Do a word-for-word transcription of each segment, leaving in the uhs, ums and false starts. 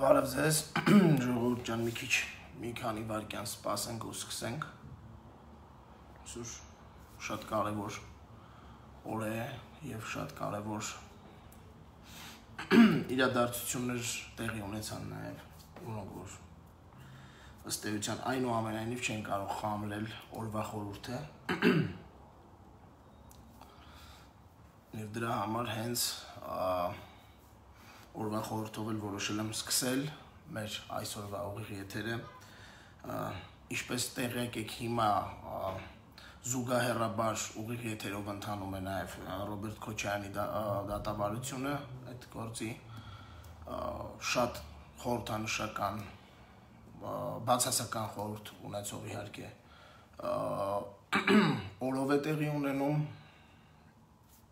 Բարև ձեզ, ժողովուրդ ջան, մի քիչ մի քանի վայրկյան սպասենք ու սկսենք։ Այսօր շատ կարևոր օր է եւ շատ կարևոր իրադարձություններ տեղի ունեցան նաեւ, որոնք որ ըստ էության այնուամենայնիվ չեն կարող խամրել օրվա խորհուրդը։ Եվ դրա համար հենց օրվա խորհրդով էլ որոշել եմ սկսել մեր այսօրվա ուղիղ եթերը, ինչպես տեղյակ եք հիմա զուգահեռաբար ուղիղ եթերով ընթանում է նաև Ռոբերտ Քոչարյանի դատավարությունը, այդ գործի շատ խորհրդանշական, բացասական խորհուրդ ունեցող իհարկե օրով է տեղի ունենում,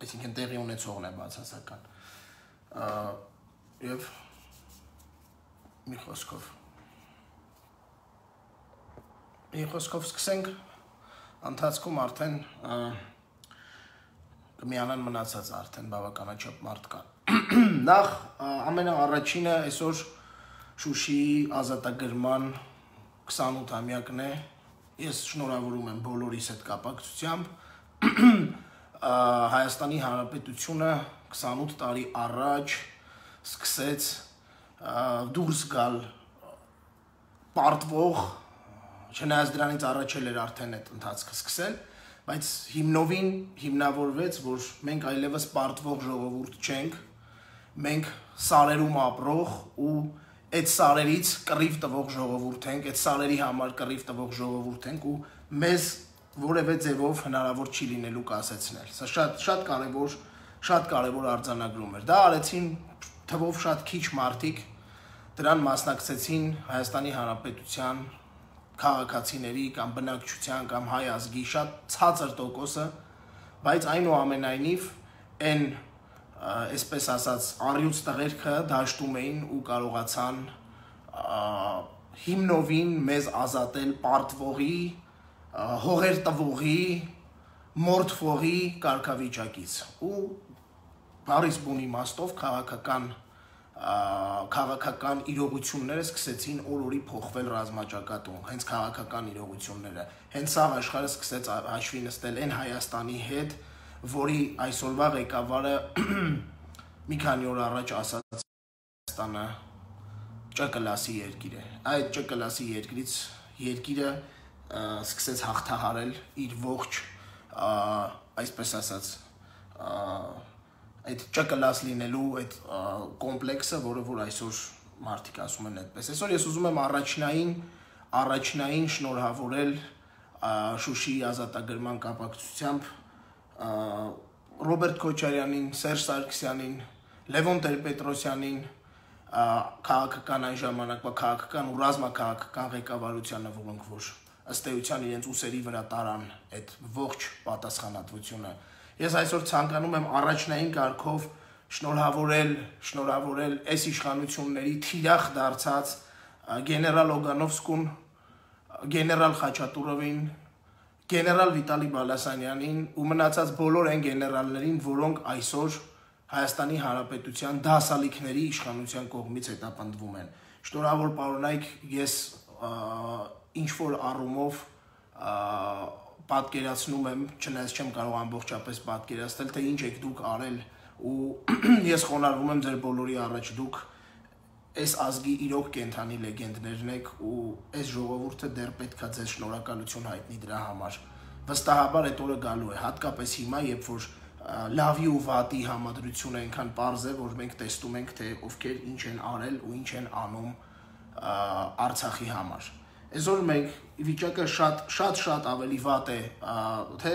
այսինքն տեղի ունեցողն է բացասական, եւ մի խոսքով մի խոսքով սկսենք, ընթացքում արդեն կմիանան մնացած արդեն բավականաչափ մարդ կան։ Նախ ամենաառաջինը այսօր Շուշիի ազատագրման քսանութամյակն է, ես շնորհավորում եմ բոլորիս այդ կապակցությամբ, Հայաստանի Հանրապետությունը քսանութ տարի առաջ սկսեց դուրս գալ պարտվող, չնայած դրանից առաջ էր արդեն այդ ընթացքը սկսել, բայց հիմնովին հիմնավորվեց, որ մենք այլևս պարտվող ժողովուրդ չենք, մենք սարերում ապրող ու այդ սարերից կռիվ տվող ժողովուրդ ենք, այդ սարերի համար կռիվ տվող ժողովուրդ ենք ու մեզ որևէ ձևով հնարավոր չի լինելու կասեցնել։ Սա շատ շատ կարևոր, շատ կարևոր արձանագրում էր։ Դա արեցին թվով շատ քիչ մարդիկ, դրան մասնակցեցին Հայաստանի Հանրապետության քաղաքացիների կամ բնակչության կամ հայ ազգի շատ ցածր տոկոսը, բայց այնուամենայնիվ այն, այսպես ասած, առյուծ տղերքը դաշտում էին ու կարողացան հիմնովին մեզ ազատել պարտվողի, հողեր տվողի, մորթվողի կարգավիճակից ու բարիս բուն իմաստով քաղաքական քաղաքական իրողությունները սկսեցին օր-օրի փոխվել ռազմաճակատում, հենց քաղաքական իրողությունները, հենց սա աշխարհը սկսեց հաշվի նստել այն Հայաստանի հետ, որի այսօրվա ղեկավարը մի քանի օր առաջ ասաց Հայաստանը Չ կլասի երկիր է։ Այդ Չ կլասի երկրից երկիրը սկսեց հաղթահարել իր ողջ, այսպես ասած, այդ Չ կլաս լինելու այդ կոմպլեքսը, որը որ այսօր մարդիկ ասում են այդպես։ Այսօր ես ուզում եմ առաջնային, առաջնային շնորհավորել Շուշիի ազատագրման կապակցությամբ Ռոբերտ Քոչարյանին, Սերժ Սարգսյանին, Լևոն Տեր-Պետրոսյանին, քաղաքական այն ժամանակվա քաղաքական ու ռազմաքաղաքական ղեկավարությանը, որոնք որ ըստ էության իրենց ուսերի վրա տարան այդ ողջ պատասխանատվությունը։ Ես այսօր ցանկանում եմ առաջնային կարգով շնորհավորել, շնորհավորել այս իշխանությունների թիրախ դարձած գեներալ Օգանովսկուն, գեներալ Խաչատուրովին, գեներալ Վիտալի Բալասանյանին ու մնացած բոլոր այն գեներալներին, որոնք այսօր Հայաստանի Հանրապետության դասալիքների իշխանության կողմից հետապնդվում են։ Շնորհավոր պարոնայք, ես ինչ-որ առումով պատկերացնում եմ, չնայած չեմ կարող ամբողջապես պատկերացնել, թե ինչ եք դուք արել ու ես խոնարհվում եմ ձեր բոլորի առաջ, դուք այս ազգի իրոք կենդանի լեգենդներն եք ու այս ժողովուրդը դեռ պետք է ձեզ շնորհակալություն հայտնի դրա համար։ Վստահաբար այդ օրը գալու է, հատկապես հիմա, երբ որ լավի ու վատի համադրությունը այնքան պարզ է, որ մենք տեսնում ենք, թե ովքեր ինչ են արել ու ինչ են անում Արցախի համար։ Այսօր մենք վիճակը շատ շատ շատ ավելի վատ է, թե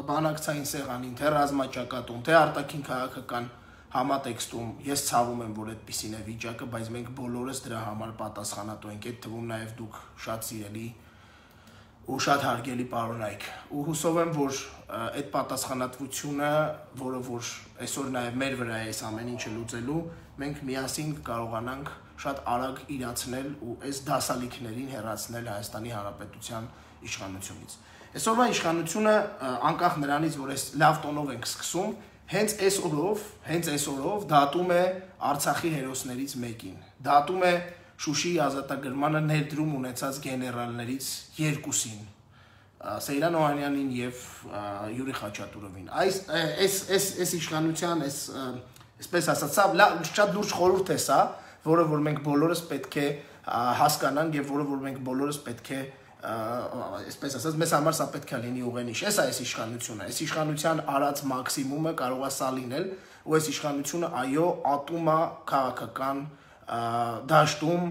բանակցային սեղանին, թե ռազմաճակատում, թե արտաքին քաղաքական համատեքստում, ես ցավում եմ, որ այդպիսին է վիճակը, բայց մենք բոլորս դրա համար պատասխանատու ենք, այդ թվում նաև դուք շատ սիրելի ու շատ հարգելի պարոնայք, ու հուսով եմ, որ այդ պատասխանատվությունը, որը որ այսօր նաև մեր վրա է այս ամեն ինչը լուծելու, մենք միասին կարողանանք շատ արագ իրացնել ու այս դասալիքներին հեռացնել Հայաստանի Հանրապետության իշխանությունից։ Այսօրվա իշխանությունը, անկախ նրանից, որ այս լավ տոնով ենք սկսում, հենց այս օրով, հենց այս օրով դատում է Արցախի հերոսներից մեկին։ Դատում է Շուշիի ազատագրմանը ներդրում ունեցած գեներալներից երկուսին, Սեյրան Օհանյանին եւ Յուրի Խաչատուրովին։ Այս այս այս այս իշխանության, այս այսպես ասած, շատ լուրջ խորհուրդ է սա, որը որ մենք բոլորս պետք է հասկանանք եւ որը որ մենք բոլորս պետք է այսպես ասած, մեզ համար սա պետք է լինի ուղենիշ։ Էս է այս իշխանությունը, այս իշխանության արած մաքսիմումը կարող է սա լինել, ու այս իշխանությունը այո ատում է քաղաքական դաշտում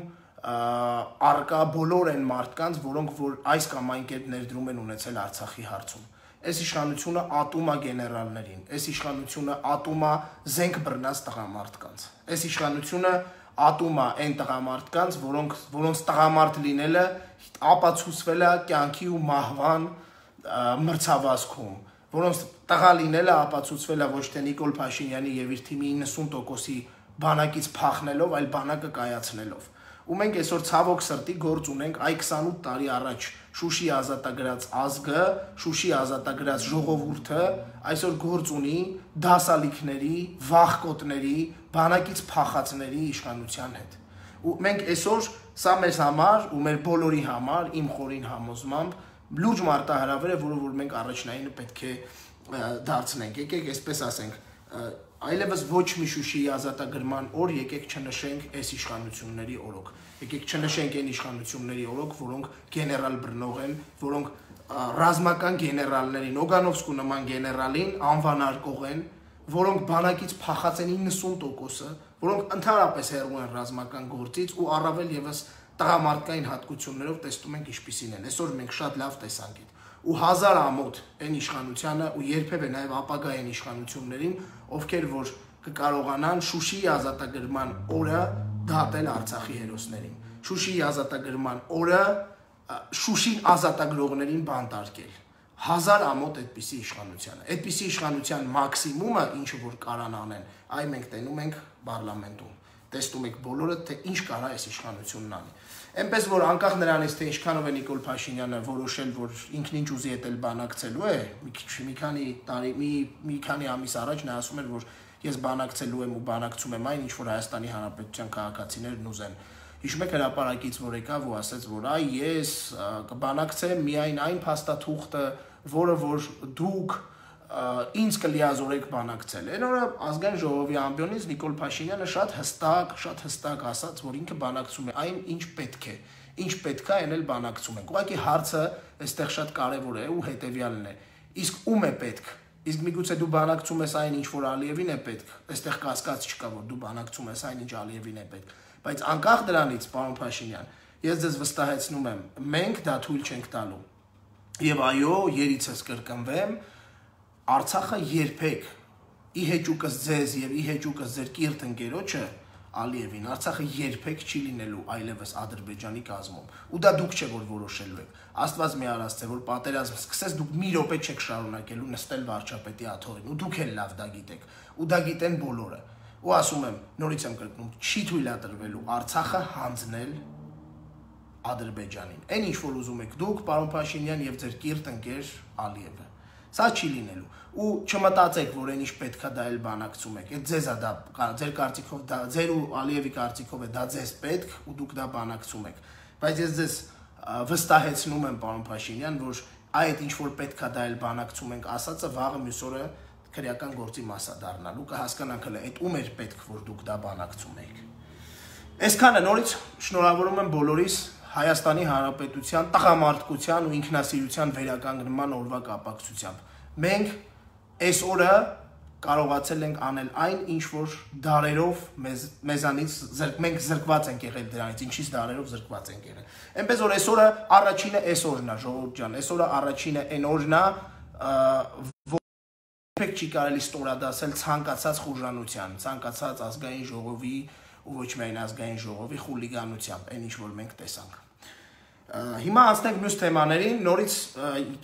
արկա բոլոր այն մարդկանց, որոնք որ այս կամ այն կերպ ներդրում են ունեցել Արցախի հարցում։ Այս իշխանությունը ատում է գեներալներին, այս իշխանությունը ատում է զենք բռնած տղամարդկանց։ Այս իշխանությունը ատում է այն տղամարդկանց, որոնք որոնց տղամարդ լինելը ապացուցվել է կյանքի ու մահվան մրցավազքում, որոնց տղա լինելը ապացուցվել է ոչ թե Նիկոլ Փաշինյանի եւ իր թիմի իննսուն տոկոսի բանակից փախնելով, այլ բանակը կայացնելով։ Ու մենք այսօր ցավոք սրտի գործ ունենք այ քսանութ տարի առաջ Շուշի ազատագրած ազգը, Շուշի ազատագրած ժողովուրդը այսօր գործ ունի դասալիքների, վախկոտների, բանակից փախածների իշխանության հետ։ Ու մենք այսօր սա մեզ համար ու մեր բոլորի համար, իմ խորին համոզմամբ լուրջ մարտահրավեր է, որը որ մենք առաջնայինը պետք է դարձնենք։ Եկեք այսպես ասենք, այլևս ոչ մի Շուշիի ազատագրման օր եկեք չնշենք այս իշխանությունների օրոք։ Եկեք չնշենք այն իշխանությունների օրոք, որոնք գեներալ բռնող են, որոնք ռազմական գեներալներին, Օգանովսկու նման գեներալին անվանարկող են, որոնք բանակից փախած են իննսուն տոկոսը, որոնք ընդհանրապես հեռու են ռազմական գործից ու առավել եւս տղամարդկային հատկություններով տեսնում ենք ինչպիսին են։ Այսօր մենք շատ լավ տեսանք այդ ու հազար ամոթ այն իշխանությանը ու երբևէ նաև ապագային իշխանություններին, ովքեր որ կկարողանան Շուշիի ազատագրման օրը դատել Արցախի հերոսներին, Շուշիի ազատագրման օրը Շուշին ազատագրողներին բանտարկել։ Հազար ամոթ այդպիսի իշխանությանը, այդպիսի իշխանության մաքսիմումը, ինչը որ կարան անեն, այ մենք տենում ենք պարլամենտում, տեսնում եք բոլորը, թե ինչ կարա այս իշխանությունն անի։ Այնպես որ անկախ նրանից, թե ինչքանով է Նիկոլ Փաշինյանը որոշել, որ ինքն ինչ ուզի էտել բանակցելու է, մի քանի տարի, մի մի քանի ամիս առաջ նա ասում էր, որ ես բանակցելու եմ ու բանակցում եմ այն, ինչ որ Հայաստանի Հանրապետության քաղաքացիներն ուզեն։ Հիշում եք հրապարակից, որ եկավ ու ասաց, որ այ ես կբանակցեմ միայն այն փաստաթուղթը, որը որ դուք ինձ կլիազորեք բանակցել։ Այն օրը ազգային ժողովի ամբիոնից Նիկոլ Փաշինյանը շատ հստակ, շատ հստակ ասաց, որ ինքը բանակցում է այն, ինչ պետք է, ինչ պետք է, այն էլ բանակցում ենք։ Ուղղակի հարցը այստեղ շատ կարևոր է ու հետեւյալն է։ Իսկ ում է պետք։ Իսկ միգուցե դու բանակցում ես այն, ինչ որ Ալիևին է պետք։ Այստեղ կասկած չկա, որ դու բանակցում ես այն, ինչ Ալիևին է պետք։ Բայց անկախ դրանից, պարոն Փաշինյան, ես ձեզ վստահեցնում եմ, մենք դա թույլ չենք տալու։ Եվ այո, երիցս կրկնվեմ, Արցախը երբեք ի հեճուկս ձեզ եւ ի հեճուկս ձեր կիրթ ընկերոջը Ալիևին, Արցախը երբեք չի լինելու այլևս Ադրբեջանի կազմում։ Ու դա դուք չէ որ որոշելու եք։ Աստված մի արասցե, որ պատերազմ սկսես, դուք մի րոպե չեք շարունակելու նստել վարչապետի աթոռին, ու դուք էլ լավ դա գիտեք։ Ու դա գիտեն բոլորը։ Ու ասում եմ, նորից եմ կրկնում, չի թույլատրվելու Արցախը հանձնել Ադրբեջանին։ Այն ինչ որ ուզում եք դուք, պարոն Փաշինյան եւ ձեր կիրթ ընկեր Ալիևը։ Սա չի լինելու։ Ու չմտածեք, որ այն ինչ պետքա դա էլ բանակցում եք։ Այդ ձեզ է դա, ձեր կարծիքով դա, ձեր ու Ալիևի կարծիքով է դա ձեզ պետք ու դուք դա բանակցում եք։ Բայց ես ձեզ վստահեցնում եմ, պարոն Փաշինյան, որ այդ ինչ որ պետքա դա էլ բանակցում ենք ասածը վաղը մյուս օրը քրեական գործի մասա դառնալու կհասկանանք հələ այդ ում էր պետք որ դուք դա բանակցում եք։ Այսքանը նորից շնորհավորում եմ բոլորիս Հայաստանի Հանրապետության տղամարդկության ու ինքնասիրության վերականգնման օրվա կապակցությամբ։ Մենք այս օրը կարողացել ենք անել այն, ինչ որ դարերով մեզ մեզանից մենք զրկված ենք եղել դրանից, ինչից դարերով զրկված ենք եղել։ Այնպես որ այսօրը առաջինը այս օրն է, ժողովուրդ ջան, այսօրը առաջինը այն օրն է, որ չի կարելի ստորադասել ցանկացած խուժանության, ցանկացած ազգային ժողովի ու ոչ միայն ազգային ժողովի խուլիգանությամբ, այն ինչ որ մենք տեսանք։ Հիմա անցնենք մյուս թեմաներին, նորից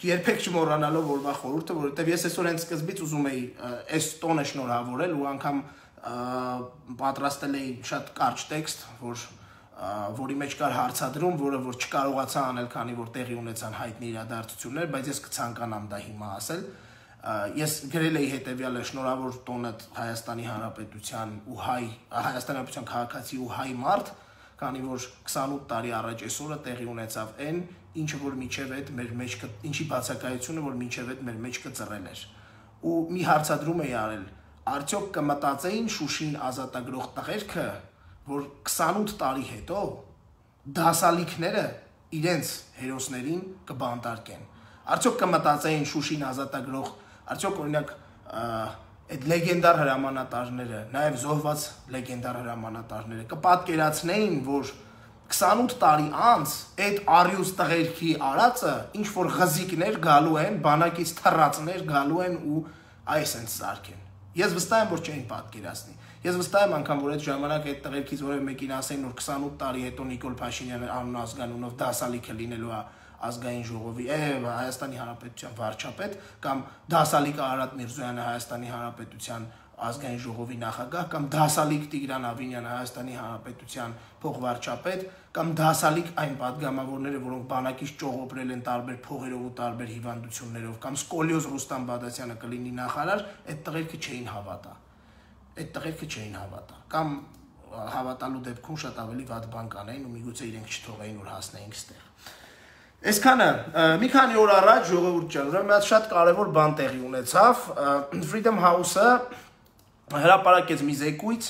երբեք չմոռանալով օրվա խորհուրդը, որովհետև ես այսօր հենց սկզբից ուզում էի այս տոնը շնորհավորել ու անգամ պատրաստել էի շատ կարճ տեքստ, որ որի մեջ կար հարցադրում, որը որ չկարողացա անել, քանի որ տեղի ունեցան հայտնի իրադարձություններ, բայց ես կցանկանամ դա հիմա ասել։ Ես գրել էի հետևյալը շնորհավոր տոնդ Հայաստանի Հանրապետության ու հայ Հայաստանի Հանրապետության քաղաքացի ու հայ մարդ, քանի որ քսանութ տարի առաջ այսօրը տեղի ունեցավ այն, ինչը որ միջև այդ մեր մեջ ինչի բացակայությունը որ միջև այդ մեր մեջ կծռել էր։ Ու մի հարցադրում էի արել, արդյոք կմտածեին Շուշին ազատագրող տղերքը, որ քսանութ տարի հետո դասալիքները իրենց հերոսներին կբանտարկեն։ Արդյոք կմտածեին Շուշին ազատագրող, արդյոք օրինակ այդ լեգենդար հրամանատարները, նաև զոհված լեգենդար հրամանատարները կպատկերացնեին, որ քսանութ տարի անց այդ առյուծ տղերքի արածը ինչ որ ղզիկներ գալու են, բանակից թռածներ գալու են ու այս են զարկեն։ Ես վստահ եմ, որ չէին պատկերացնի։ Ես վստահ եմ անգամ, որ այդ ժամանակ այդ տղերքից որևէ մեկին ասեին, որ քսանութ տարի հետո Նիկոլ Փաշինյանը անուն ազգանունով դասալիքը լինելու է ազգային ժողովի, է Հայաստանի Հանրապետության վարչապետ, կամ դասալիկ Արարատ Միրզոյանը Հայաստանի Հանրապետության ազգային ժողովի նախագահ, կամ դասալիկ Տիգրան Ավինյանը Հայաստանի Հանրապետության փոխվարչապետ, կամ դասալիկ այն պատգամավորները, որոնք բանակից ճողոպրել են տարբեր փողերով ու տարբեր հիվանդություններով, կամ Սկոլիոզ Ռուստամ Բադասյանը կլինի նախարար, այդ տղերքը չէին հավատա։ Այդ տղերքը չէին հավատա, կամ հավատալու դեպքում շատ ավելի վատ բան կանեին ու միգուցե իրենք չթողեին, որ հասնեինք ստեղ։ Այսքանը մի քանի օր առաջ ժողովուրդ ջան, ուրեմն մի հատ շատ կարևոր բան տեղի ունեցավ, Freedom House-ը հրապարակեց մի զեկույց,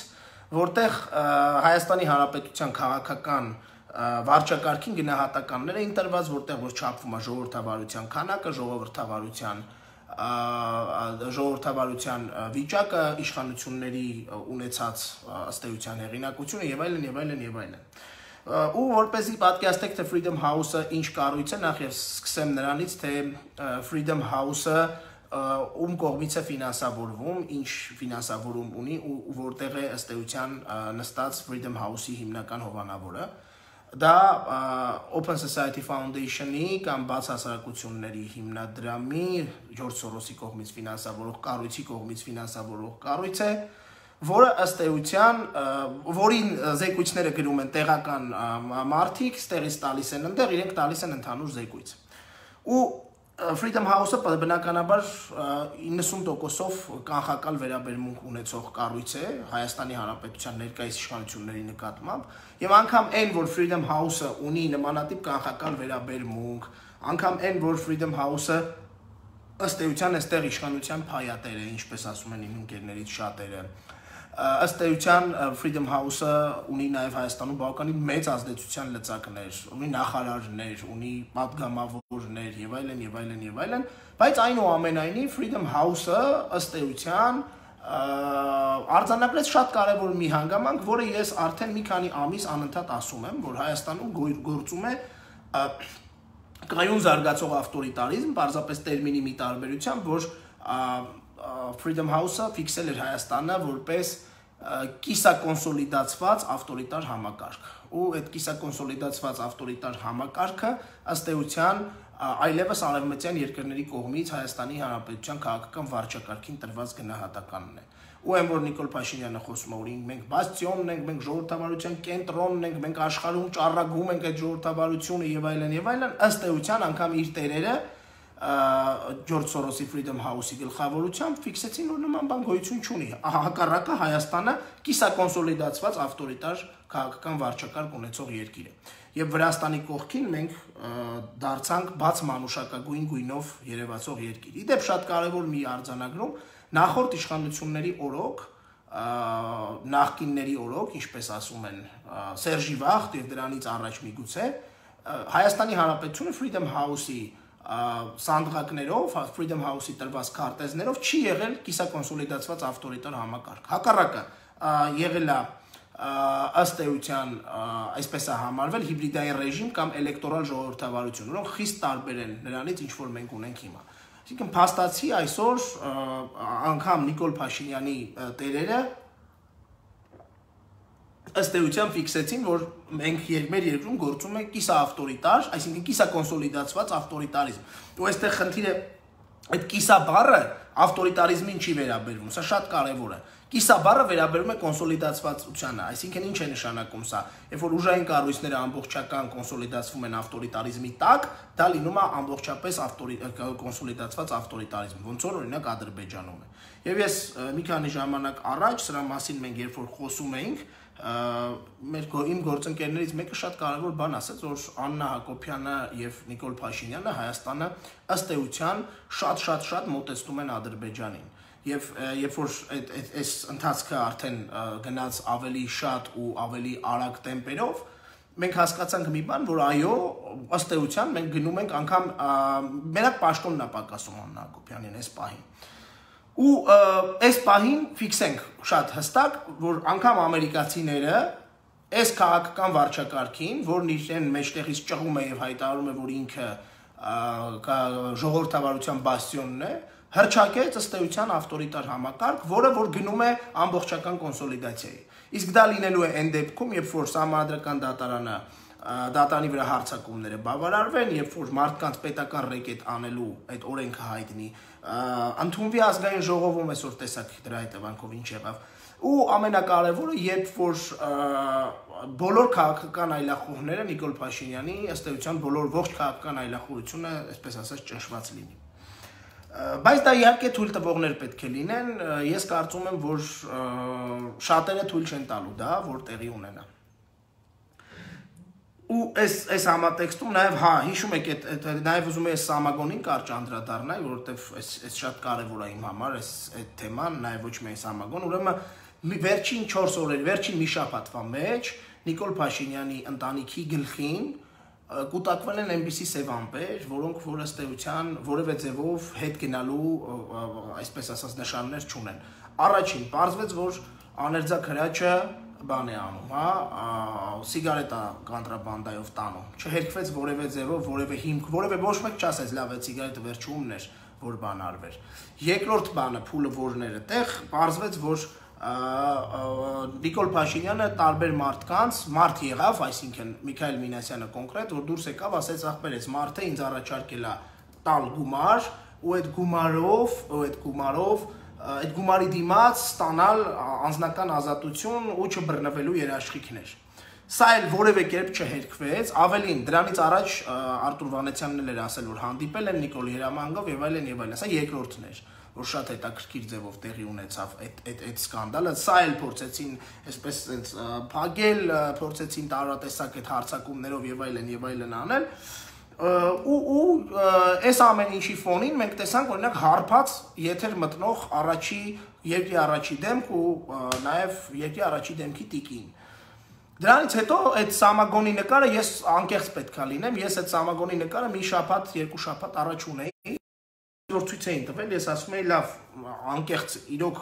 որտեղ Հայաստանի Հանրապետության քաղաքական վարչակարգին գնահատականներ էին տրված, որտեղ որ չափվում է ժողովրդավարության քանակը, ժողովրդավարության ժողովրդավարության վիճակը, իշխանությունների ունեցած ըստ էության հեղինակությունը եւ այլն եւ այլն եւ այլն։ Ու որպեսզի պատկերացնեք, թե Freedom House-ը ինչ կառույց է, նախ եւ սկսեմ նրանից, թե Freedom House-ը ում կողմից է ֆինանսավորվում, ինչ ֆինանսավորում ունի ու որտեղ է ըստ էության նստած Freedom House-ի հիմնական հովանավորը։ Դա Open Society Foundation-ի կամ բաց հասարակությունների հիմնադրամի Ջորջ Սորոսի կողմից ֆինանսավորող կառույցի կողմից ֆինանսավորող կառույց է, որը ըստ էության, որին զեկույցները գրում են տեղական մարդիկ, ստեղից տալիս են ընդեղ, իրենք տալիս են ընդհանուր զեկույց։ Ու Freedom House-ը բնականաբար իննսուն տոկոսով կանխակալ վերաբերմունք ունեցող կառույց է Հայաստանի Հանրապետության ներկայիս իշխանությունների նկատմամբ, եւ անգամ այն, որ Freedom House-ը ունի նմանատիպ կանխակալ վերաբերմունք, անգամ այն, որ Freedom House-ը ըստ էության այստեղ իշխանության փայատեր է, ինչպես ասում են իմ ընկերներից շատերը, ըստ էության Freedom House-ը ունի նաև Հայաստանում բավականին մեծ ազդեցության լծակներ, ունի նախարարներ, ունի պատգամավորներ եւ այլն եւ այլն եւ այլն, բայց այնուամենայնիվ Freedom House-ը ըստ էության արձանագրեց շատ կարևոր մի հանգամանք, որը ես արդեն մի քանի ամիս անընդհատ ասում եմ, որ Հայաստանում գործում է կայուն զարգացող ավտորիտարիզմ, պարզապես տերմինի մի տարբերությամբ, որ Freedom House-ը ֆիքսել էր Հայաստանը որպես կիսակոնսոլիդացված ավտորիտար համակարգ։ Ու այդ կիսակոնսոլիդացված ավտորիտար համակարգը ըստ էության այլևս արևմտյան երկրների կողմից Հայաստանի Հանրապետության քաղաքական վարչակարգին տրված գնահատականն է։ Ու այն որ Նիկոլ Փաշինյանը խոսում է, որ մենք բաստիոնն ենք, մենք ժողովրդավարության կենտրոնն ենք, մենք աշխարհում ճառագում ենք այդ ժողովրդավարությունը եւ այլն եւ այլն, ըստ էության անգամ իր տերերը Ջորջ Սորոսի Freedom House-ի գլխավորությամբ ֆիքսեցին, որ նման բան գոյություն չունի։ Հակառակը Հայաստանը կիսակոնսոլիդացված ավտորիտար քաղաքական վարչակարգ ունեցող երկիր է։ Եվ Վրաստանի կողքին մենք դարձանք բաց մանուշակագույն գույնով երևացող երկիր։ Իդեպ շատ կարևոր մի արձանագրում, նախորդ իշխանությունների օրոք, նախկինների օրոք, ինչպես ասում են Սերժի Վախտ եւ դրանից առաջ միգուցե, Հայաստանի Հանրապետությունը Freedom House-ի սանդղակներով, Freedom House-ի տրված քարտեզներով չի եղել կիսակոնսոլիդացված ավտորիտար համակարգ։ Հակառակը եղել է ըստ էության այսպես է համարվել հիբրիդային ռեժիմ կամ էլեկտորալ ժողովրդավարություն, որոնք խիստ տարբեր են նրանից, ինչ որ մենք ունենք հիմա։ Այսինքն փաստացի այսօր անգամ Նիկոլ Փաշինյանի տերերը ըստ էության ֆիքսեցին, որ մենք մեր երկրում գործում է կիսաավտորիտար, այսինքն կիսակոնսոլիդացված ավտորիտարիզմ։ Ու այստեղ խնդիրը այդ կիսա բառը ավտորիտարիզմին չի վերաբերվում, սա շատ կարևոր է։ Կիսաբառը վերաբերում է կոնսոլիդացվածությանը, այսինքն ինչ է նշանակում սա, երբ որ ուժային կառույցները ամբողջական կոնսոլիդացվում են ավտորիտարիզմի տակ, դա լինում է ամբողջապես կոնսոլիդացված ավտորիտարիզմ, ոնց որ օրինակ Ադրբեջանում է։ Եվ ես մի քանի ժամանակ առաջ սրա մասին մենք երբ որ խոսում էինք, մեր իմ գործընկերներից մեկը շատ կարևոր բան ասաց, որ Աննա Հակոբյանը եւ Նիկոլ Փաշինյանը Հայաստանը ըստ էության շատ-շատ-շատ մոտեցնում են Ադրբեջանին։ Եվ երբ որ այս ընթացքը արդեն գնաց ավելի շատ ու ավելի արագ տեմպերով, մենք հասկացանք մի բան, որ այո, ըստ էության մենք գնում ենք անգամ մենակ պաշտոնն է պակասում Աննա Հակոբյանին այս պահին։ Ու այս պահին ֆիքսենք շատ հստակ, որ անգամ ամերիկացիները այս քաղաքական վարչակարգին, որն իրեն մեջտեղից ճղում է եւ հայտարարում է, որ ինքը ժողովրդավարության բաստիոնն է, հրճակեց ըստ էության ավտորիտար համակարգ, որը որ գնում է ամբողջական կոնսոլիդացիայի։ Իսկ դա լինելու է այն դեպքում, երբ որ Սահմանադրական դատարանը դատարանի վրա հարձակումները բավարարվեն, երբ որ մարդկանց պետական ռեկետ անելու այդ օրենքը հայտնի, ընդունվի ազգային ժողովում այսօր տեսակ դրա հետևանքով ինչ եղավ։ Ու ամենակարևորը, երբ որ բոլոր քաղաքական այլախոհները Նիկոլ Փաշինյանի ըստ էության բոլոր ողջ քաղաքական այլախոհությունը, այսպես ասած, ճնշված լինի։ Բայց դա իհարկե թույլ տվողներ պետք է լինեն, ես կարծում եմ, որ շատերը թույլ չեն տալու դա, որ տեղի ունենա։ Ու այս այս համատեքստում նաև հա, հիշում եք, նաև ուզում եմ այս Սամագոնին կարճ անդրադառնալ, որովհետև այս այս շատ կարևոր է իմ համար, այս այդ թեման, նաև ոչ միայն Սամագոն, ուրեմն վերջին չորս օրերի, վերջին մի շաբաթվա մեջ Նիկոլ Փաշինյանի ընտանիքի գլխին կուտակվել են այնպիսի սև ամպեր, որոնք որ ըստ էության որևէ ձևով հետ գնալու, այսպես ասած, նշաններ չունեն։ Առաջին պարզվեց, որ աներձակ հրաչը բան է անում, հա, սիգարետա կոնտրաբանդայով տանում։ Չհերքվեց որևէ ձևով, որևէ հիմք, որևէ ոչ մեկ չասեց, լավ է, սիգարետը վերջումն էր, որ բան արվեր։ Երկրորդ բանը, փուլը որներ է տեղ, պարզվեց, որ Նիկոլ Փաշինյանը տարբեր մարդկանց, մարդ եղավ, այսինքն Միքայել Մինասյանը կոնկրետ, որ դուրս եկավ, ասեց ախպեր, այս մարդը ինձ առաջարկել է տալ գումար, ու այդ գումարով, ու այդ գումարով, այդ գումարի դիմաց ստանալ անձնական ազատություն ու չբռնվելու երաշխիքներ։ Սա էլ որևէ կերպ չհերքվեց, ավելին, դրանից առաջ Արտուր Վանեցյանն էր ասել, որ հանդիպել են Նիկոլի հրամանգով եւ այլն եւ այլն, սա երկրորդն էր, որ շատ հետաքրքիր ձևով տեղի ունեցավ այդ այդ այդ սկանդալը, սա էլ փորձեցին այսպես այնց փագել, փորձեցին տարատեսակ այդ հարցակումներով եւ այլն եւ այլն անել, ու ու այս ամեն ինչի ֆոնին մենք տեսանք օրինակ հարբած եթեր մտնող առաջի երկրի առաջի դեմք ու նաեւ երկրի առաջի դեմքի տիկին։ Դրանից հետո այդ Սամագոնի նկարը ես անկեղծ պետքա լինեմ, ես այդ Սամագոնի նկարը մի շաբաթ, երկու շաբաթ առաջ ունեի, որ ցույց էին տվել, ես ասում էի լավ, անկեղծ իրոք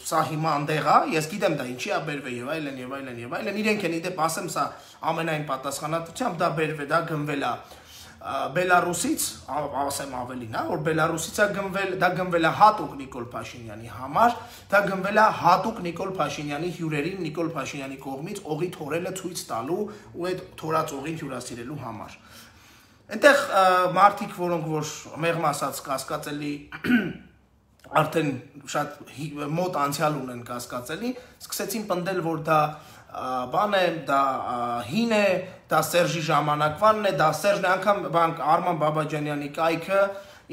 սա հիմա անդեղ է, ես գիտեմ դա ինչի է բերվել եւ այլն եւ այլն եւ այլն, իրենք են իդեպ ասեմ սա ամենայն պատասխանատվությամբ դա բերվել, դա գնվել է Բելարուսից, ասեմ ավելին, հա, որ Բելարուսից է գնվել, դա գնվել է հատուկ Նիկոլ Փաշինյանի համար, դա գնվել է հատուկ Նիկոլ Փաշինյանի հյուրերին, Նիկոլ Փաշինյանի կողմից օղի թորելը ցույց տալու ու այդ թորած օղին հյուրասիրելու համար։ Այնտեղ մարդիկ, որոնք որ մեղմ ասած կասկածելի արդեն շատ մոտ անցյալ ունեն կասկածելի, սկսեցին պնդել, որ դա բան է, դա հին է, դա Սերժի ժամանակվանն է, դա Սերժն է, անգամ բանկ Արման Բաբաջանյանի կայքը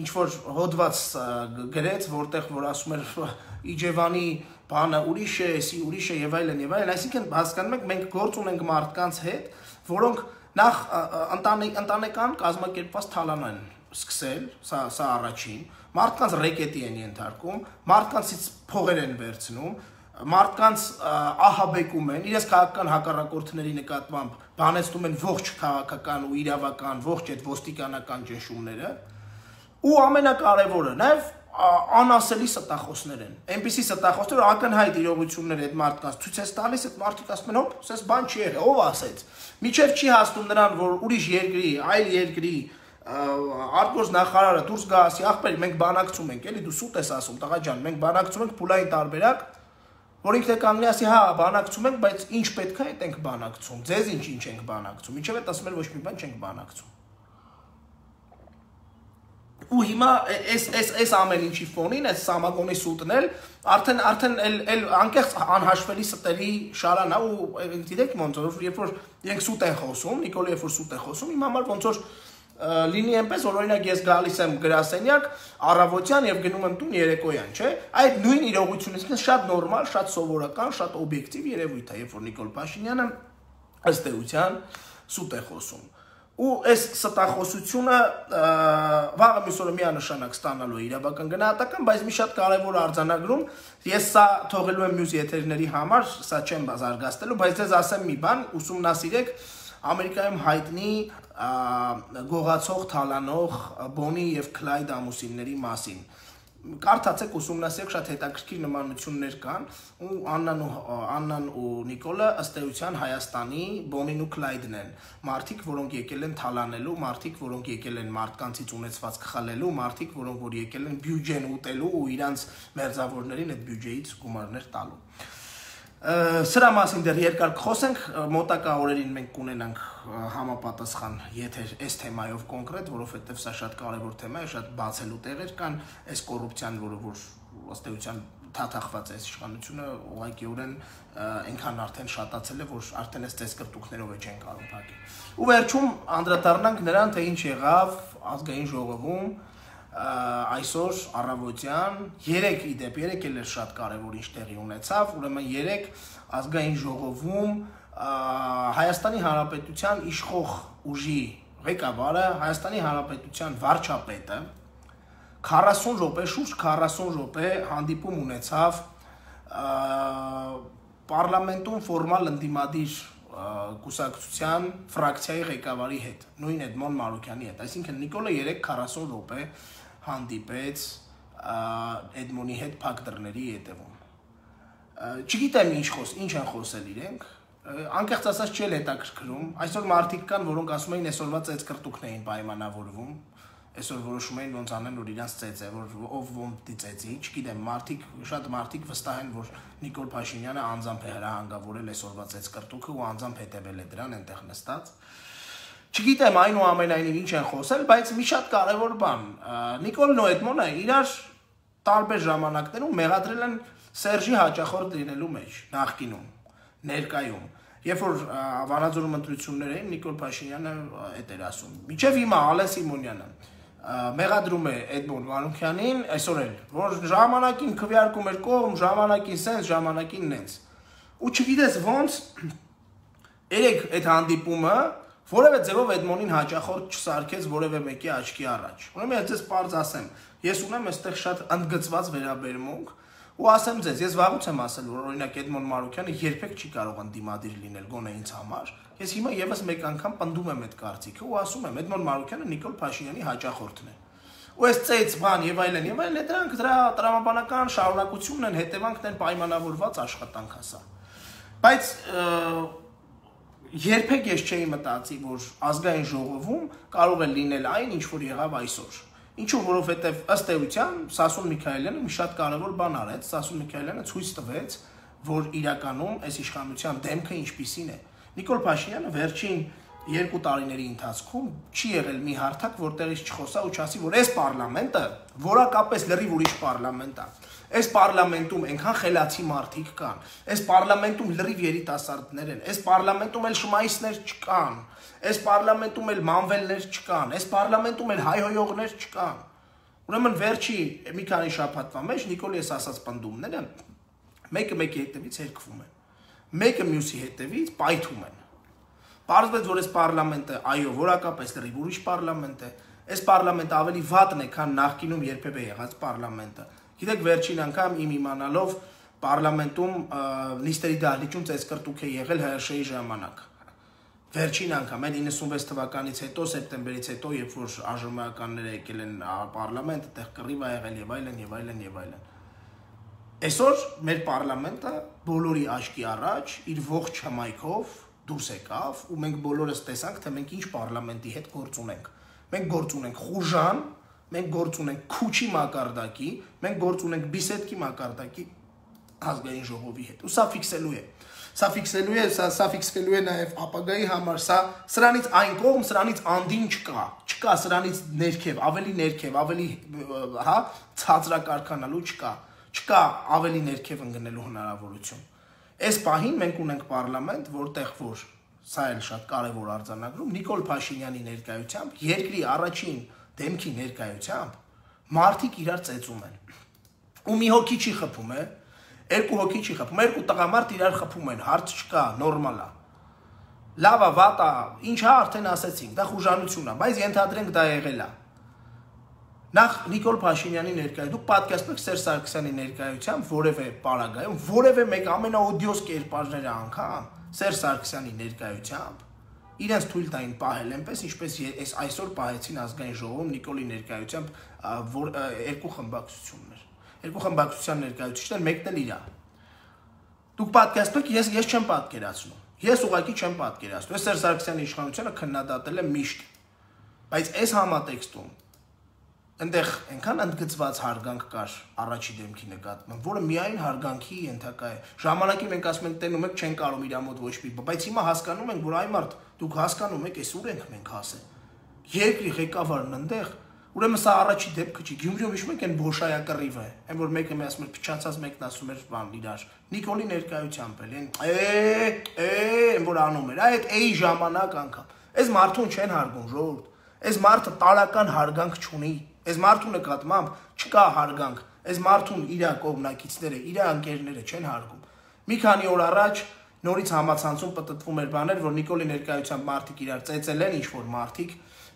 ինչ որ հոդված գրեց, որտեղ որ ասում էր Իջևանի բանը ուրիշ է, էսի ուրիշ է եւ այլն եւ այլն, այսինքն հասկանում եք մենք գործ ունենք մարդկանց հետ, որոնք նախ ընտանեկան կազմակերպված թալան են սկսել, սա սա առաջին, մարդկանց ռեկետի են ենթարկում, մարդկանցից փողեր են վերցնում, մարդկանց ահաբեկում են, իրենց քաղաքական հակառակորդների նկատմամբ բանեցնում են ողջ քաղաքական ու իրավական, ողջ այդ ոստիկանական ճնշումները, ու ամենակարևորը նաև անասելի ստախոսներ են, այնպիսի ստախոսներ, որ ակնհայտ իրողություններ այդ մարդկանց ցույց է տալիս, այդ մարդիկ ասում են, հոպ, սես բան չի եղել, ով ասեց, միջև չի հասնում նրան, որ ուրիշ երկրի, այլ երկրի արտգործնախարարը դուրս գա ասի, ախպեր, մենք բանակցում ենք, էլի դու սուտ ես ասում, տղա ջան, մենք բանակցում ենք փուլային տարբերակ, որ ինքն է կանգնի ասի, հա, բանակցում ենք, բայց ինչ պետք է, այդ ենք բանակցում, ձեզ ինչ-ինչ ենք բանակցում, ինչև այդ ասում են ոչ մի բան չենք բանակցում։ ու հիմա այս այս այս ամեն ինչի ֆոնին այս Սամագոնի սուտն էլ արդեն արդեն էլ էլ անկեղծ անհաշվելի ստերի շարան է ու գիտեք ոնց որ երբ որ իրենք սուտ են խոսում, Նիկոլը երբ որ սուտ է խոսում, իմ համար ոնց որ լինի այնպես որ օրինակ ես գալիս եմ գրասենյակ առավոտյան եւ գնում եմ տուն երեկոյան, չէ՞։ Այդ նույն իրողությունը ինքնին շատ նորմալ, շատ սովորական, շատ օբյեկտիվ երևույթ է, երբ որ Նիկոլ Փաշինյանը ըստ էության սուտ է խոսում։ Ու այս ստախոսությունը վաղը մյուս օրը միանշանակ ստանալու է իրավական գնահատական, բայց մի շատ կարևոր արձանագրում, ես սա թողելու եմ մյուս եթերների համար, սա չեմ զարգացնելու, բայց ձեզ ասեմ մի բան, ուսումնասիրեք Ամերիկայում հայտնի գողացող թալանող Բոնի եւ Քլայդ ամուսինների մասին։ Կարդացեք, ուսումնասիրեք, շատ հետաքրքիր նմանություններ կան, ու Աննան ու Աննան ու Նիկոլը ըստ էության Հայաստանի Բոնին ու Քլայդն են։ Մարդիկ, որոնք եկել են թալանելու, մարդիկ, որոնք եկել են մարդկանցից ունեցվածք խլելու, մարդիկ, որոնք որ եկել են բյուջեն ուտելու ու իրանց մերձավորներին այդ բյուջեից գումարներ տալու։ Սրա մասին դեռ երկար կխոսենք, մոտակա օրերին մենք կունենանք համապատասխան եթեր այս թեմայով կոնկրետ, որովհետև սա շատ կարևոր թեմա է, շատ բացելու տեղեր կան, այս կոռուպցիան, որը որ ըստ էության թաթախված է այս իշխանությունը, ուղղակիորեն այնքան արդեն շատացել է, որ արդեն այս ծեսկրտուկներով է չեն կարող փակել։ Ու վերջում անդրադառնանք նրան, թե ինչ եղավ ազգային ժողովում այսօր առավոտյան, երեք իդեպ, երեք էլ էր շատ կարևոր ինչ տեղի ունեցավ, ուրեմն երեք ազգային ժողովում Հայաստանի Հանրապետության իշխող ուժի ղեկավարը, Հայաստանի Հանրապետության վարչապետը քառասուն րոպե, շուրջ քառասուն րոպե հանդիպում ունեցավ պարլամենտում ֆորմալ ընդդիմադիր կուսակցության ֆրակցիայի ղեկավարի հետ, նույն Էդմոն Մարուկյանի հետ, այսինքն Նիկոլը երեք քառասուն րոպե հանդիպեց Էդմոնի հետ փակ դռների ետևում։ Չգիտեմ ինչ խոս, ինչ են խոսել իրենք, անկեղծ ասած չի էլ հետաքրքրում, այսօր մարդիկ կան, որոնք ասում էին այսօրվա ծեծկրտուկն էին պայմանավորվում, այսօր որոշում էին ոնց անեն, որ իրանց ծեծ է, որ ով ում ծեծի, չգիտեմ, մարդիկ, շատ մարդիկ վստահ են, որ Նիկոլ Փաշինյանը անձամբ է հրահանգավորել այսօրվա ծեծկրտուկը ու անձամբ հետևել է դրան այնտեղ նստած։ Չգիտեմ այնուամենայնիվ ինչ են խոսել, բայց մի շատ կարևոր բան, Նիկոլն ու Էդմոնը իրար տարբեր ժամանակներում մեղադրել են Սերժի հաճախորդ լինելու մեջ, նախկինում, ներկայում։ Երբ որ Վանաձորում ընտրություններ էին, Նիկոլ Փաշինյանը էդ էր ասում։ Մինչև հիմա Ալեն Սիմոնյանը մեղադրում է Էդմոն Մանուկյանին, այսօր էլ, որ ժամանակին քվեարկում էր կողմ, ժամանակին սենց, ժամանակին նենց։ Ու չգիտես ոնց երեք այդ հանդիպումը որևէ ձևով Էդմոնին հաճախորդ չսարքեց որևէ մեկի աչքի առաջ։ Ուրեմն ես ձեզ պարզ ասեմ, ես ունեմ այստեղ շատ ընդգծված վերաբերմունք ու ասեմ ձեզ, ես վաղուց եմ ասել, որ օրինակ Էդմոն Մարուկյանը երբեք չի կարող ընդդիմադիր լինել գոնե ինձ համար։ Ես հիմա եւս մեկ անգամ պնդում եմ այդ կարծիքը ու ասում եմ, Էդմոն Մարուկյանը Նիկոլ Փաշինյանի հաճախորդն է։ Ու այս ծեծ բան եւ այլն եւ այլն, դրանք դրա տրամաբանական շարունակությունն են, հետևանքն են պայմանավորված աշխատանք ասա։ Բայց երբեք ես չէի մտածի, որ ազգային ժողովում կարող է լինել այն, ինչ որ եղավ այսօր։ Ինչու, որովհետև ըստ էության Սասուն Միքայելյանը մի շատ կարևոր բան արեց, Սասուն Միքայելյանը ցույց տվեց, որ իրականում այս իշխանության դեմքը ինչպիսին է։ Նիկոլ Փաշինյանը վերջին երկու տարիների ընթացքում չի եղել մի հարթակ, որտեղից չխոսա ու չասի, որ այս պարլամենտը որակապես լրիվ ուրիշ պարլամենտ է։ Այս պարլամենտում այնքան խելացի մարդիկ կան, այս պարլամենտում լրիվ երիտասարդներ են, այս պարլամենտում էլ շմայիսներ չկան, այս պարլամենտում էլ մանվելներ չկան, այս պարլամենտում էլ հայհոյողներ չկան։ Ուրեմն վերջի մի քանի շաբաթվա մեջ Նիկոլի ես ասած պնդումները մեկը մեկի հետևից հերկվում են, մեկը մյուսի հետևից պայթում են։ Պարզվեց, որ այս պարլամենտը, այո, որակապես լրիվ ուրիշ պարլամենտ է, այս պարլամենտը ավելի վատն է, քան նախկինում երբևէ եղած պարլամենտը։ Գիտեք, վերջին անգամ իմ իմանալով պարլամենտում նիստերի դահլիճում ծեծկրտուկ է եղել Հ Շ-ի ժամանակ։ Վերջին անգամ, այն իննսունվեց թվականից հետո, սեպտեմբերից հետո, երբ որ Ա Ժ Մ-ականները եկել են պարլամենտ, այդտեղ կռիվ ա եղել եւ այլն եւ այլն եւ այլն։ Այսօր մեր պարլամենտը բոլորի աչքի առաջ իր ողջ հմայքով դուրս եկավ ու մենք բոլորս տեսանք, թե մենք ինչ պարլամենտի հետ գործ ունենք։ Մենք գործ ունենք խուժան, մենք գործ ունենք քուչի մակարդակի, մենք գործ ունենք բիսեդկի մակարդակի ազգային ժողովի հետ։ Ու սա ֆիքսելու է։ Սա ֆիքսելու է, սա սա ֆիքսվելու է նաև ապագայի համար, սա սրանից այն կողմ, սրանից անդին չկա, չկա սրանից ներքև, ավելի ներքև, ավելի հա ցածրակարգանալու չկա, չկա ավելի ներքև ընկնելու հնարավորություն։ Այս պահին մենք ունենք պարլամենտ, որտեղ որ սա էլ շատ կարևոր արձանագրում, Նիկոլ Փաշինյանի ներկայությամբ, երկրի առաջին դեմքի ներկայությամբ մարդիկ իրար ծեծում են։ Ու մի հոգի չի խփում, է, երկու հոգի չի խփում, երկու տղամարդ իրար խփում են, հարց չկա, նորմալ է։ Լավ է, վատ է, ինչա արդեն ասեցինք, դա խուժանություն է, բայց ենթադրենք դա եղել է։ Նախ Նիկոլ Փաշինյանի ներկայությամբ, դուք պատկերացնեք Սերժ Սարգսյանի ներկայությամբ որևէ պարագայում, որևէ մեկ ամենաօդիոս կերպարները անգամ Սերժ Սարգսյանի ներկայությամբ իրենց թույլ տային պահել այնպես, ինչպես այս այսօր պահեցին ազգային ժողովում Նիկոլի ներկայությամբ երկու խմբակցություններ։ Երկու խմբակցության ներկայացուցիչներ մեկն էլ իրա։ Դուք պատկերացնեք, ես ես չեմ պատկերացնում։ Ես ուղղակի չեմ պատկերացնում։ Ես Սերժ Սարգսյանի իշխանությունը քննադատել եմ միշտ։ Բայց այս համատեքստում այնտեղ այնքան ընդգծված հարգանք կար առաջի դեմքի նկատմամբ, որը միայն հարգանքի ենթակա է։ Ժամանակի մենք ասում ենք տենում եք չեն կարող իր մոտ ոչ մի, բայց հիմա հասկանում ենք, որ այ մարդ դուք հասկանում եք, այս ուր ենք մենք հասել։ Երկրի ղեկավարն այնտեղ, ուրեմն սա առաջի դեպքը չի։ Գյումրիում հիշում եք այն Բոշայակռիվը, այն որ մեկը մի ասում էր փչացած մեկն ասում էր բան իրար։ Նիկոլի ներկայությամբ էլ այն է, է, այն որ անում էր, այդ էի ժամանակ անգամ։ Այս մարդուն չեն հարգում, ժողովուրդ։ Այս մարդը տարական հարգանք չունի։ Այս մարդու նկատմամբ չկա հարգանք, այս մարդուն իր կողմնակիցները, իր անկերները չեն հարգում։ Մի քանի օր առաջ նորից համացանցում պտտվում էր բաներ, որ Նիկոլի ներկայությամբ մարդիկ իրար ծեծել են, ինչ-որ մարդիկ,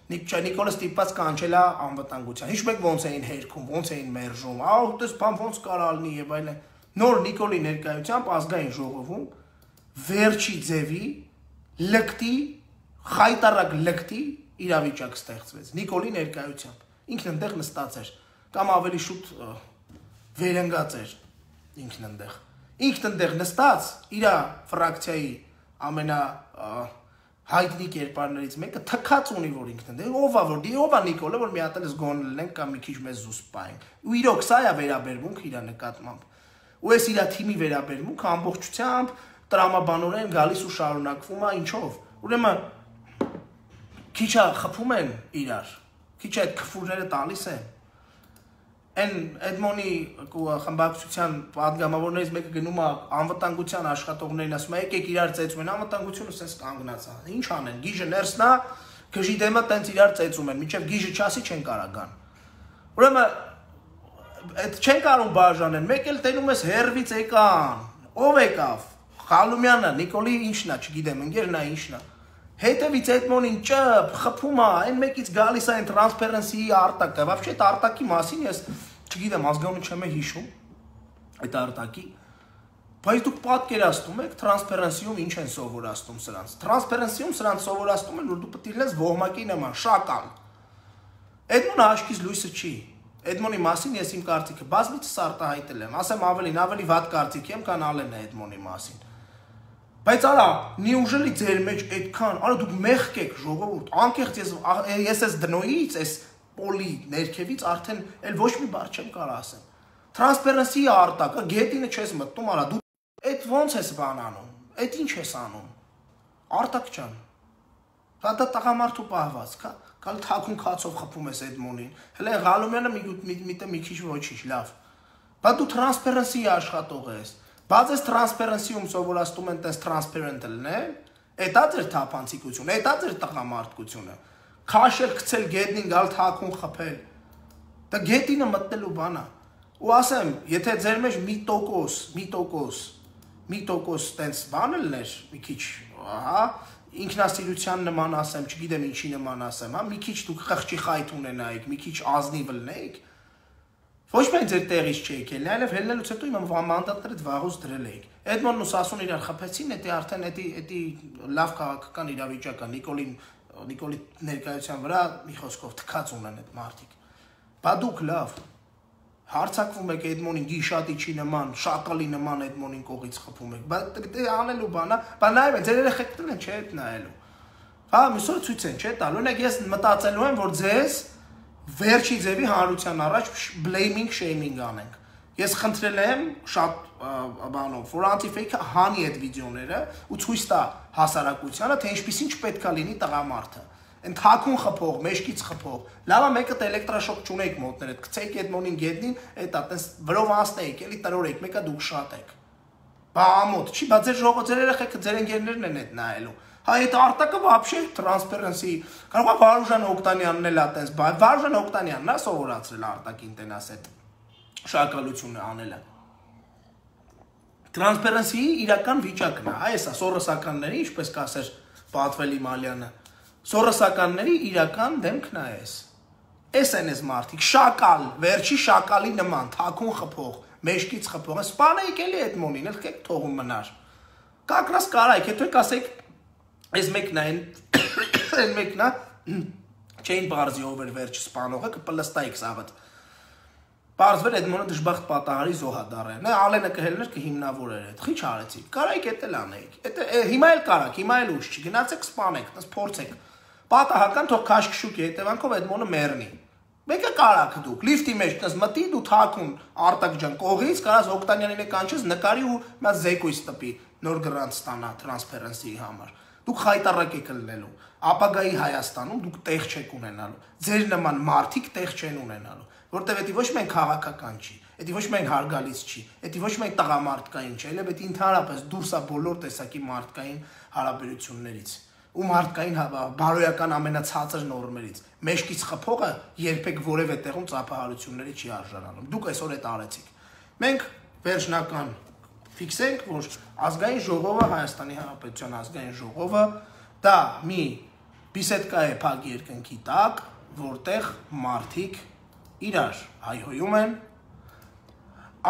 Նիկոլը ստիպված կանչել է անվտանգության։ Հիշում եք ոնց էին հերքում, ոնց էին մերժում, ահա դες բան ոնց կարա լինի եւ այլն։ Նոր Նիկոլի ներկայությամբ ազգային ժողովում վերջի ձևի լկտի, խայտարակ լկտի իրավիճակ ստեղծվեց Նիկոլի ներկայությամբ։ Ինքն այնտեղ նստած էր, կամ ավելի շուտ վերընկած էր ինքն այնտեղ։ Ինքն այնտեղ նստած իր ֆրակցիայի ամենա հայտնի կերպարներից մեկը թքած ունի, որ ինքն այնտեղ ով է որ դի ով է Նիկոլը, որ մի հատ էլ զգոն լինենք կամ մի քիչ մեզ զուսպային։ Ու իրոք սա է վերաբերմունք իր նկատմամբ։ Ու այս իր թիմի վերաբերմունքը ամբողջությամբ տրամաբանորեն գալիս ու շարունակվում է ինչով։ Ուրեմն քիչ է խփում են իրար։ Քիչ այդ քֆուրները տալիս են։ Այն Էդմոնի խմբակցության падգամավորներից մեկը գնում է անվտանգության աշխատողներին ասում է եկեք իրար ծեծում են, անվտանգությունը սենց կանգնած է։ Ինչ անեն, գիժը ներսնա, գժի դեմը տենց իրար ծեծում են, մինչև գիժը չասի չեն կարա գան։ Ուրեմն այդ չեն կարող բաժանեն, մեկ էլ տենում ես հերվից եկան, ով եկավ։ Խալումյանը, Նիկոլի ինչն է, չգիտեմ, ընկերն է ինչն է։ Հետևից Էդմոնին ճպ, խփում է, այն մեկից գալիս է այն տրանսպերենսիի արտակը, вообще այդ արտակի մասին ես չգիտեմ, ազգանունը չեմ հիշում, այդ արտակի, բայց դուք պատկերացնում եք տրանսպերենսիում ինչ են սովորացնում սրանց։ Տրանսպերենսիում սրանց սովորացնում են, որ դու պետք է լինես ոհմակի նման, շակալ։ Էդմոնը աչքից լույսը չի։ Էդմոնի մասին ես իմ կարծիքը բազմիցս արտահայտել եմ, ասեմ ավելին, ավելի վատ կարծիք եմ, քան Ալենը Էդմոնի մասին։ Բայց արա, նիուժելի ձեր մեջ այդքան, արա դուք մեղք եք ժողովուրդ, անկեղծ ես ես ես դնոյից, այս պոլի ներքևից արդեն էլ ոչ մի բառ չեմ կարող ասեմ։ Տրանսպերենսի արտակը գետինը չես մտնում, արա դու այդ ոնց ես բան անում, այդ ինչ ես անում։ Արտակ ջան։ Դա դա տղամարդու պահվածք, հա։ Կալ թակուն քացով խփում ես Էդմոնին։ Հələ Ղալումյանը մի մի քիչ ոչինչ, լավ։ Բայց դու տրանսպերենսի աշխատող ես։ Բայց այս տրանսպերենսիում սովորացնում են տես տրանսպերենտ լինել, էտա ձեր թափանցիկությունը, էտա ձեր տղամարդկությունը։ Քաշել, գցել գետնին, գալ թակուն խփել։ Դա գետինը մտնելու բան է։ Ու ասեմ, եթե ձեր մեջ մի տոկոս, մի տոկոս, մի տոկոս տենց բան լիներ, մի քիչ, ահա, ինքնասիրության նման ասեմ, չգիտեմ ինչի նման ասեմ, հա, մի քիչ դուք խղճի խայթ ունենայիք, մի քիչ ազնիվ լինեիք, ոչ միայն ձեր տեղից չէիք ելնի, այլև ելնելուց հետո իմ մանդատները վաղուց դրել էիք։ Էդմոնն ու Սասուն իրար խփեցին, դա արդեն դա լավ քաղաքական իրավիճակ է, Նիկոլին Նիկոլի ներկայության վրա մի խոսքով թքած ունեն այդ մարդիկ։ Բա դուք լավ հարցակվում եք Էդմոնին գիշատիչի նման, շակալի նման Էդմոնին կողից խփում եք, բայց դա անելու բան է, բա նայում են, ձեր երեխեքն են չէ՞ այդ նայելու։ Հա, միսօր ցույց են, չէ՞ տալու, օրինակ ես մտածելու եմ, որ ձեզ վերջի ձևի հանրության առաջ blaming shaming անենք։ Ես խնդրել եմ շատ բանով, որ Anti-Fake-ը հանի այդ վիդեոները ու ցույց տա հասարակությանը, թե ինչպեսին չպետք է լինի տղամարդը։ Այն թաքուն խփող, մեջքից խփող։ Լավա մեկը դե էլեկտրաշոկ չունեք մոտներդ, գցեք այդ մոնին գետնին, այդ այտենց վրով անցնեիք, էլի տրորեք, մեկը դուք շատ եք։ Բա ամոթ, չի, բա ձեր ժողովուրդ ձեր երեխեքը ձեր ընկերներն են այդ նայելու։ Հա այդ արտակը вообще transparency կարող է Վարուժան Օկտանյանն էլ այտենց, բա Վարուժան Օկտանյանն է սովորացրել արտակին տենաս այդ շարակալությունը անելը։ Transparency-ի իրական վիճակն է, այս է սորոսականների, ինչպես կասեր Պատվելի Մալյանը, սորոսականների իրական դեմքն է այս։ Էս են այս մարդիկ, շակալ, վերջի շակալի նման, թաքուն խփող, մեջքից խփող, սպանեիք էլի այդ մոնին, էլ կեք թողում մնար։ Կակրաս կարայք, հետո եք ասեք, այս մեկն է, այն մեկն է, չէին բարձի ով էր վերջի սպանողը, կպլստայիք սաղըտ։ Պարզվեր այդ մոնը դժբախտ պատահարի զոհադար է, Ալենը կհելներ կհիմնավորեր այդ, խի չարեցիք, կարայիք էդ էլ անեիք, հիմա էլ կարաք, հիմա էլ ուշ չի, գնացեք սպանեք, փորձեք, պատահական թող քաշքշուկի հետևանքով այդ մոնը մեռնի, մեկը կարաք դուք, լիֆտի մեջ մտի դու թաքուն Արտակ ջան կողից, կարաս Օկտանյանին է կանչես նկարի ու նա զեկույց տպի, նոր գրանտ ստանա transparency-ի համար, դուք խայտարակ եք լինելու, ապագայի Հայաստանում դուք տեղ չեք ունենալու, ձեր նման մարդիկ տեղ չեն ունենալու, որտեվ դա ոչ միայն քաղաքական չի, դա ոչ միայն հարգալից չի, դա ոչ միայն տղամարդկային չի, այլև դա ընդհանրապես դուրս է բոլոր տեսակի մարդկային հարաբերություններից ու մարդկային բարոյական ամենացածր նորմերից։ Մեջքից խփողը երբեք որևէ տեղում ծափահարությունների չի արժանանում։ Դուք այսօր այդ արեցիք։ Մենք վերջնական ֆիքսենք, որ ազգային ժողովը, Հայաստանի Հանրապետության ազգային ժողովը դա մի բիսեդկա է փակ երկնքի տակ, որտեղ մարդիկ իրար հայհոյում են,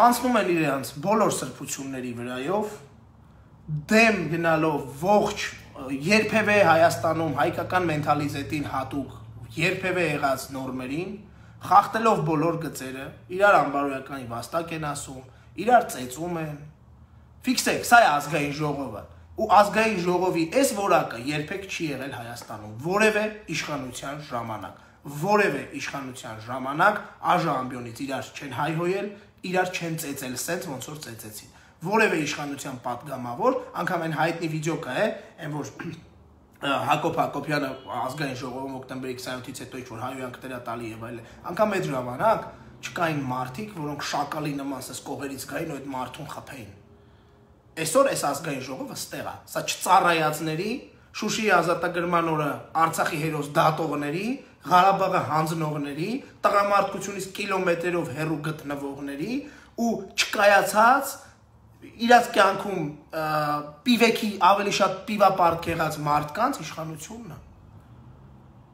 անցնում են իրենց բոլոր սրբությունների վրայով, դեմ գնալով ողջ երբևէ Հայաստանում հայկական մենթալիտետին հատուկ երբևէ եղած նորմերին, խախտելով բոլոր գծերը, իրար անբարոյական վաստակ են ասում, իրար ծեծում են, ֆիքսեք, սա է ազգային ժողովը, ու ազգային ժողովի այս որակը երբեք չի եղել Հայաստանում, որևէ իշխանության ժամանակ, որևէ իշխանության ժամանակ աժ ամբիոնից իրար չեն հայհոյել, իրար չեն ծեծել սենց ոնց որ ծեծեցին, որևէ իշխանության պատգամավոր, անգամ այն հայտնի վիդեո կա է, այն որ Հակոբ Հակոբյանը ազգային ժողովում հոկտեմբերի քսանյոթից հետո ինչ-որ հայհոյանքներ է տալի եւ այլն, անգամ այդ ժամանակ չկային մարդիկ, որոնք շակալի նման սես կողերից գային ու այդ մարդուն խփեին։ Այսօր այս ազգային ժողովը ստեղ է, սա չծառայածների, Շուշիի ազատագրման օրը Արցախի հերոս դատողների, Ղարաբաղը հանձնողների, տղամարդկությունից կիլոմետրերով հեռու գտնվողների ու չկայացած իրաց կյանքում պիվեքի ավելի շատ պիվապարկ եղած մարդկանց իշխանությունն է։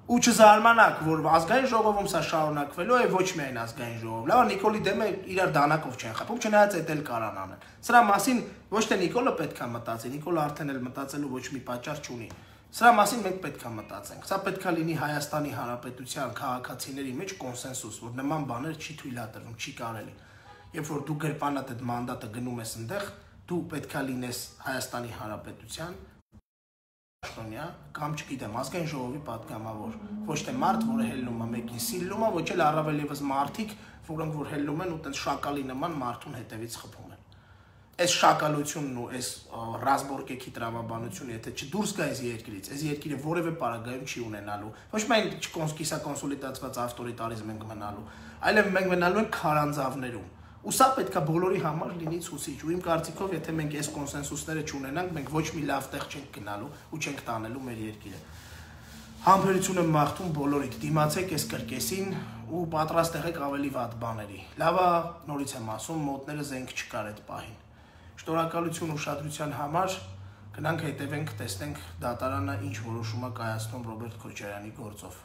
Ու չզարմանաք, որ ազգային ժողովում սա շարունակվելու է ոչ միայն ազգային ժողով։ Լավ, Նիկոլի դեմը իրար դանակով չեն խփում, չնայած այդ էլ կարան անեն։ Սրա մասին ոչ թե Նիկոլը պետք է մտածի, Նիկոլը արդեն էլ մտածելու ոչ մի պատճառ չունի։ Սրա մասին մենք պետք է մտածենք։ Սա պետք է լինի Հայաստանի Հանրապետության քաղաքացիների մեջ կոնսենսուս, որ նման բաներ չի թույլատրվում, չի կարելի։ Երբ որ դու գրպանատ այդ մանդատը գնում ես այնտեղ, դու պետք է լինես Հայաստանի Հանրապետության կամ չգիտեմ, ազգային ժողովի պատգամավոր, ոչ թե մարդ, որը հելնում է մեկին սիլում է, ոչ էլ առավել ևս մարդիկ, որոնք որ հելնում են ու տենց շակալի նման մարդուն հետևից խփում են։ Այս շակալությունն ու այս ռազմորկեքի տրամաբանությունը, եթե չդուրս գա այս երկրից, այս երկիրը որևէ պարագայում չի ունենալու, ոչ միայն կիսակոնսոլիդացված ավտորիտարիզմ ենք մնալու, այլև մենք մնալու ենք քարանձավներում։ Ու սա պետք է բոլորի համար լինի ցուցիչ, ու իմ կարծիքով, եթե մենք այս կոնսենսուսները չունենանք, մենք ոչ մի լավ տեղ չենք գնալու ու չենք տանելու մեր երկիրը։ Համբերություն եմ մաղթում բոլորիդ, դիմացեք այս կրկեսին ու պատրաստ եղեք ավելի վատ բաների։ Լավա, նորից եմ ասում, մոտները զենք չկար այդ պահին։ Շնորհակալություն ուշադրության համար, գնանք հետևենք, տեսնենք դատարանը ինչ որոշում է կայացնում Ռոբերտ Քոչարյանի գործով։